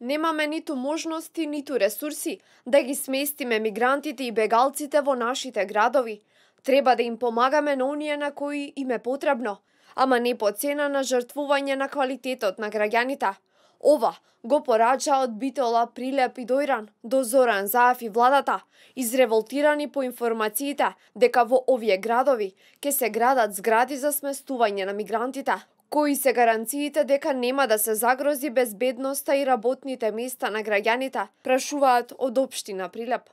Немаме ниту можности, ниту ресурси да ги сместиме мигрантите и бегалците во нашите градови. Треба да им помагаме на оние на кои им е потребно, ама не по цена на жртвување на квалитетот на граѓаните. Ова го порача од Битола, Прилеп и Дојран до Зоран Заев и владата, изреволтирани по информациите дека во овие градови ќе се градат згради за сместување на мигрантите. Кои се гаранциите дека нема да се загрози безбедноста и работните места на граѓаните, прашуваат од општина Прилеп.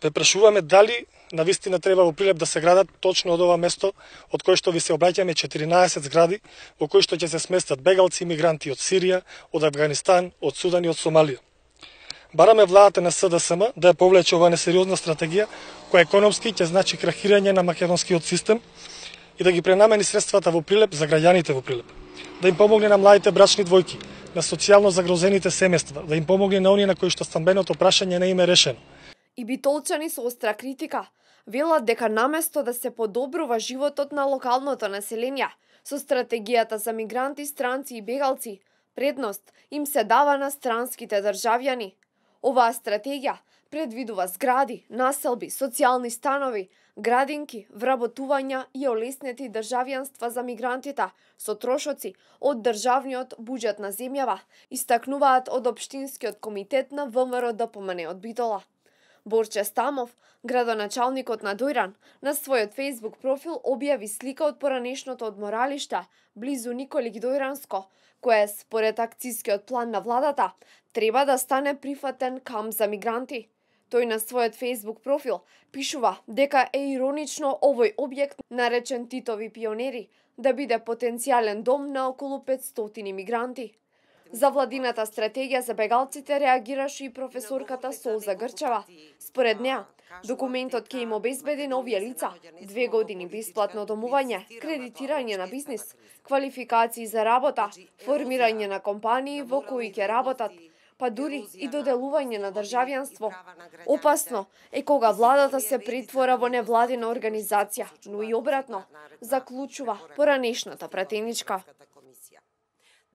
Ве прашуваме дали навистина треба во Прилеп да се градат точно од ова место од кое што ви се обраќаме 14 згради во кои што ќе се сместат бегалци и мигранти од Сирија, од Авганистан, од Судан и од Сомалија. Бараме владата на СДСМ да ја повлече оваа несериозна стратегија која економски ќе значи крахирање на македонскиот систем и да ги пренамени средствата во Прилеп за граѓаните во Прилеп. Да им помогне на младите брачни двојки, на социјално загрозените семејства, да им помогне на оние на кои што стамбеното прашање не им е решено. И битолчани со остра критика велат дека наместо да се подобрува животот на локалното население со стратегијата за мигранти, странци и бегалци, предност им се дава на странските државјани. Оваа стратегија предвидува згради, населби, социјални станови, градинки, вработувања и олеснети државјанства за мигрантите со трошоци од државниот буџет на земјава, истакнуваат од Општинскиот комитет на ВМРО ДПМН од Битола. Борче Стамов, градоначалникот на Дојран, на својот Facebook профил објави слика од поранешното одморалиште близу Николик Дојранско, кое според акцијскиот план на владата треба да стане прифатен камп за мигранти. Тој на својот Facebook профил пишува дека е иронично овој објект, наречен Титови пионери, да биде потенцијален дом на околу 500 мигранти. За владината стратегија за бегалците реагираше и професорката Солза Грчева. Според неа, документот ќе им обезбеди на овие лица 2 години бесплатно домување, кредитирање на бизнис, квалификации за работа, формирање на компании во кои ќе работат, па дури и доделување на државјанство. Опасно е кога владата се претвора во невладина организација, но и обратно, заклучува поранешната пратеничка.